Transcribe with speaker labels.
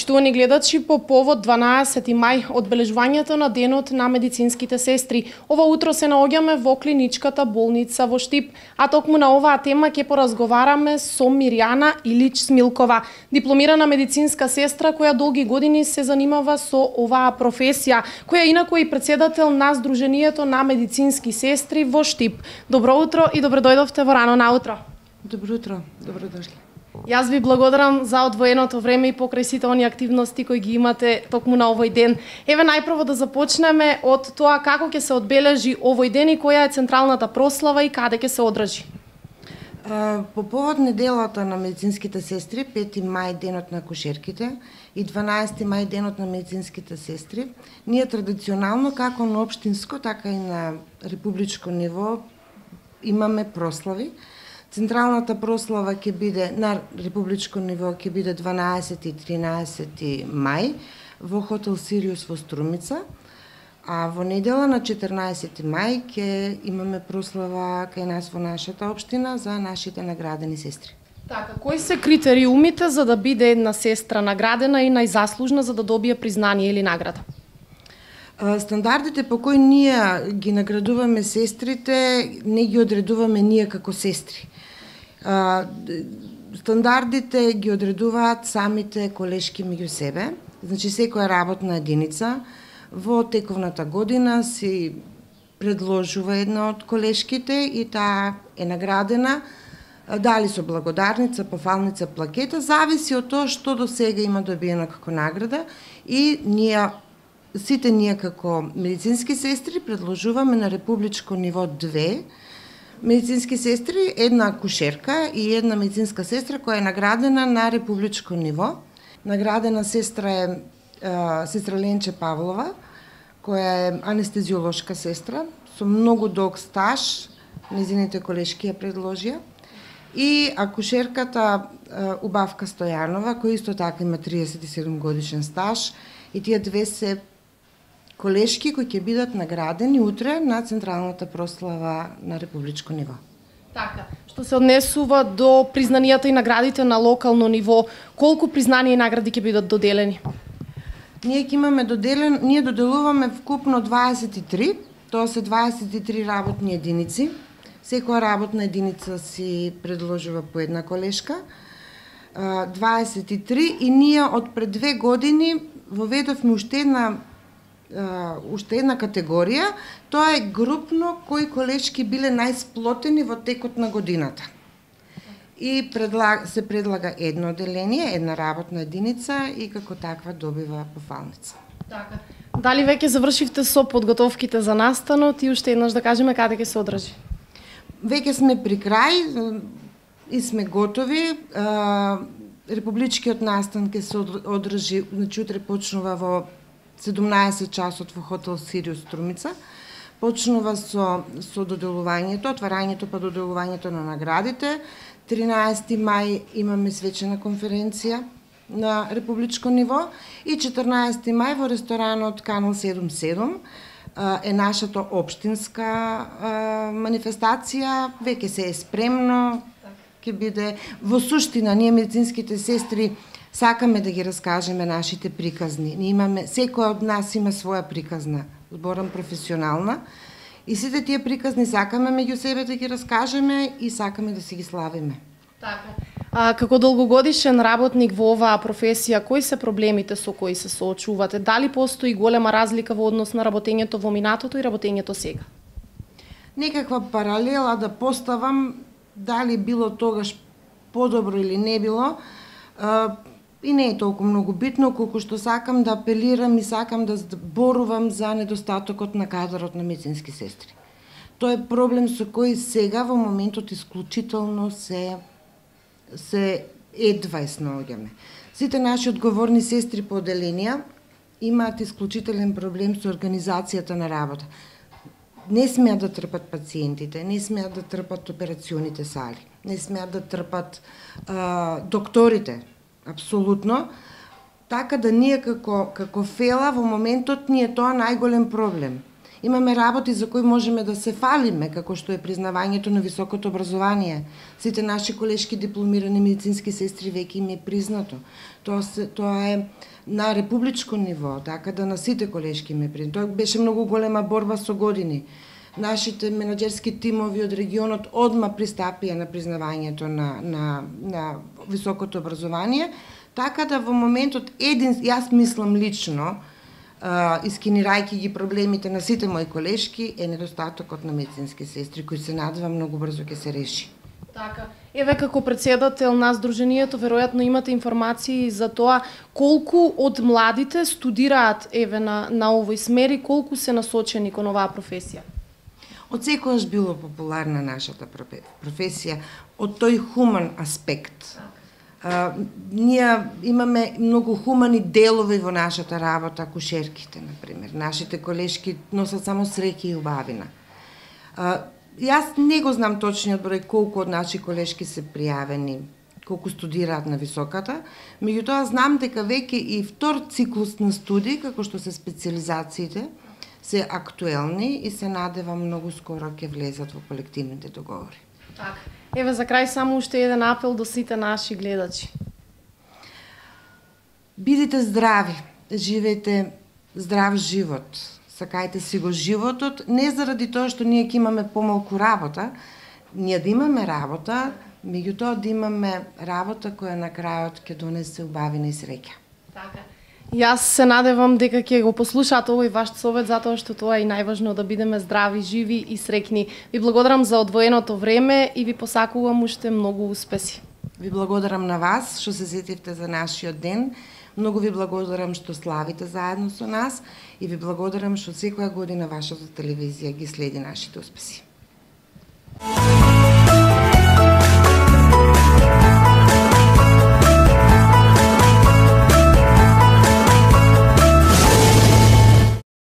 Speaker 1: Поштувани гледачи, по повод 12 мај, одбележувањето на денот на медицинските сестри, ова утро се наоѓаме во клиничката болница во Штип, а токму на оваа тема ќе поразговараме со Мирјана Илич Смилкова, дипломирана медицинска сестра која долги години се занимава со оваа професија, која инаку е и претседател на Сдруженијето на медицински сестри во Штип. Добро утро и добро дојдовте во рано наутро.
Speaker 2: Добро утро, добро дошли.
Speaker 1: Јас ви благодарам за одвоеното време и покрај сите оние активности кои ги имате токму на овој ден. Еве најпрво да започнеме од тоа како ќе се одбележи овој ден и која е централната прослава и каде ќе се одржи.
Speaker 2: По повод неделата на медицинските сестри, 5 мај денот на акушерките и 12 мај денот на медицинските сестри, ние традиционално како на општинско, така и на републичко ниво имаме прослави. Централната прослава ќе биде на републичко ниво ќе биде 12 и 13 мај во хотел Сириус во Струмица, а во недела на 14 мај ќе имаме прослава кај нас во нашата општина за нашите наградени сестри.
Speaker 1: Така, кои се критериумите за да биде една сестра наградена и најзаслужна за да добие признание или награда?
Speaker 2: Стандардите по кои ние ги наградуваме сестрите, не ги одредуваме ние како сестри. Стандардите ги одредуваат самите колешки меѓу себе. Значи, секоја работна единица во тековната година си предложува една од колешките и таа е наградена, дали со благодарница, пофалница, плакета, зависи од тоа што до сега има добиено како награда и сите ние како медицински сестри предложуваме на републичко ниво 2 медицински сестри, една акушерка и една медицинска сестра која е наградена на републичко ниво. Наградена сестра е сестра Ленче Павлова, која е анестезиолошка сестра со многу долг стаж, незините колешки ја предложија. И акушерката Убавка Стојанова, која исто така има 37 годишен стаж, и тие две се колешки кои ќе бидат наградени утре на централната прослава на републичко ниво.
Speaker 1: Така, што се однесува до признанијата и наградите на локално ниво, колку признанија и награди ќе бидат доделени?
Speaker 2: Ние доделуваме вкупно 23, тоа се 23 работни единици. Секоја работна единица си предложува по една колешка. 23 и ние од пред 2 години воведовме уште една категорија, тоа е групно кои колешки биле најсплотени во текот на годината. И се предлага едно одделение, една работна единица и како таква добива пофалница.
Speaker 1: Така. Дали веќе завршивте со подготовките за настанот и уште еднаш да кажеме каде ќе се одржи?
Speaker 2: Веќе сме при крај и сме готови. Републичкиот настан ќе се одржи, значи утре почнува во 17 часот во хотел Сириус Струмица. Почнува со доделувањето, отварањето па доделувањето на наградите. 13 мај имаме свечена конференција на републичко ниво и 14 мај во ресторанот Канал 77 е нашата општинска манифестација, веќе се е спремно, ќе биде во суштина ние медицинските сестри сакаме да ги раскажеме нашите приказни. Ние имаме, секој од нас има своја приказна, зборам професионална, и сите тие приказни сакаме меѓу себе да ги раскажеме и сакаме да си ги славиме.
Speaker 1: Така. Како долгогодишен работник во оваа професија, кои се проблемите со кои се соочувате? Дали постои голема разлика во однос на работењето во минатото и работењето сега?
Speaker 2: Некаква паралела да поставам, дали било тогаш подобро или не било, и не е толку многу битно, колку што сакам да апелирам и сакам да зборувам за недостатокот на кадарот на медицински сестри. Тоа е проблем со кој сега во моментот исклучително се едва снаоѓаме. Сите наши одговорни сестри по одделенија имаат исклучителен проблем со организацијата на работа. Не смеат да трпат пациентите, не смеат да трпат операционите сали, не смеат да трпат докторите, апсолутно. Така да ние како фела во моментот ни е тоа најголем проблем. Имаме работи за кои можеме да се фалиме, како што е признавањето на високото образование. Сите наши колешки дипломирани медицински сестри веќе им е признато. Тоа е на републичко ниво, така да на сите колешки им е признато. Тоа беше многу голема борба со години. Нашите менаџерски тимови од регионот одма пристапија на признавањето на високото образование, така да во моментот јас мислам лично, искинирајќи ги проблемите на сите мои колешки, е недостатокот на медицински сестри, кои се надевам многу брзо ќе се реши.
Speaker 1: Така. Еве како председател на Сдруженијето, веројатно имате информации за тоа колку од младите студираат еве на овој смер и колку се насочени кон оваа професија.
Speaker 2: Од секогаш било популарна нашата професија, од тој хуман аспект. Ние имаме многу хумани делови во нашата работа, акушерките, например. Нашите колешки носат само среќа и убавина. Јас не го знам точниот број колку од наши колешки се пријавени, колку студираат на високата, меѓутоа знам дека веќе и втор циклус на студии, како што се специализациите, се актуелни и се надевам многу скоро ќе влезат во колективните договори.
Speaker 1: Така. Еве за крај само уште еден апел до сите наши гледачи.
Speaker 2: Бидете здрави, живеете здрав живот. Сакајте си го животот, не заради тоа што ние ќе имаме помалку работа, ние да имаме работа, меѓутоа да имаме работа која на крајот ќе донесе убавина и среќа.
Speaker 1: Така. Јас се надевам дека ќе го послушаат овој ваш совет, затоа што тоа е најважно да бидеме здрави, живи и среќни. Ви благодарам за одвоеното време и ви посакувам уште многу успеси.
Speaker 2: Ви благодарам на вас што се сетивте за нашиот ден. Многу ви благодарам што славите заедно со нас и ви благодарам што секоја година вашата телевизија ги следи нашите успеси.